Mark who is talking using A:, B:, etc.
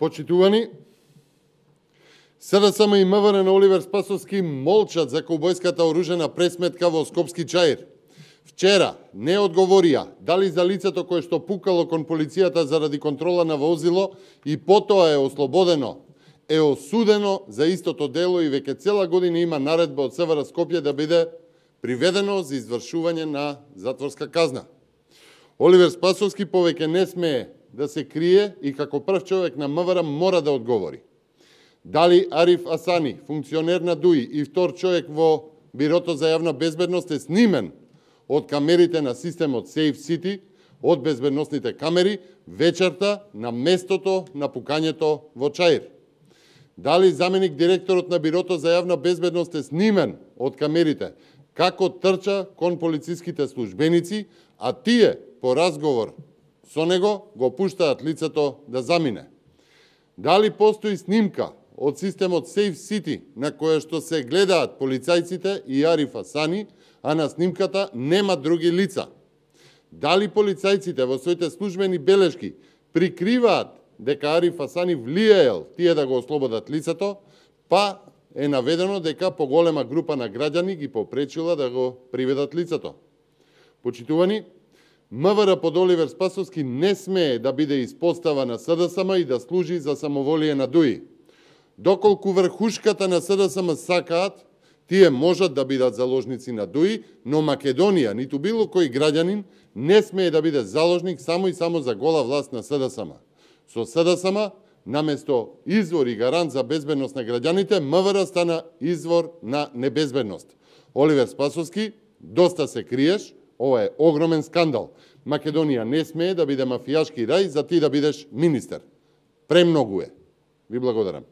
A: Почитувани, СДСМ и МВР на Оливер Спасовски молчат за каубојската оружена пресметка во Скопски Чаир. Вчера не одговорија дали за лицето кое што пукало кон полицијата заради контрола на возило и потоа е ослободено, е осудено за истото дело и веќе цела година има наредба од СВР Скопје да биде приведено за извршување на затворска казна. Оливер Спасовски повеќе не смее да се крие и како прв човек на МВР мора да одговори. Дали Ариф Асани, функционер на ДУИ и втор човек во Бирото за јавна безбедност е снимен од камерите на системот Safe City, од безбедносните камери, вечерта на местото на пукањето во Чаир. Дали заменик директорот на Бирото за јавна безбедност е снимен од камерите, како трча кон полициските службеници, а тие по разговор со него го пуштаат лицето да замине. Дали постои снимка од системот Safe City на која што се гледаат полицајците и Ариф Асани, а на снимката нема други лица. Дали полицајците во своите службени белешки прикриваат дека Ариф Асани влијаел тие да го ослободат лицето, па е наведено дека поголема група на граѓани ги попречила да го приведат лицето. Почитувани, МВР под Оливер Спасовски не смее да биде испостава на СДСМ и да служи за самоволие на ДУИ. Доколку врхушката на СДСМ сакаат, тие можат да бидат заложници на ДУИ, но Македонија, ниту било кој граѓанин, не смее да биде заложник само и само за гола власт на СДСМ. Со СДСМ, наместо извор и гарант за безбедност на граѓаните, МВР стана извор на небезбедност. Оливер Спасовски, доста се криеш, ова е огромен скандал. Македонија не смее да биде мафијашки рај за ти да бидеш министер. Премногу е. Ви благодарам.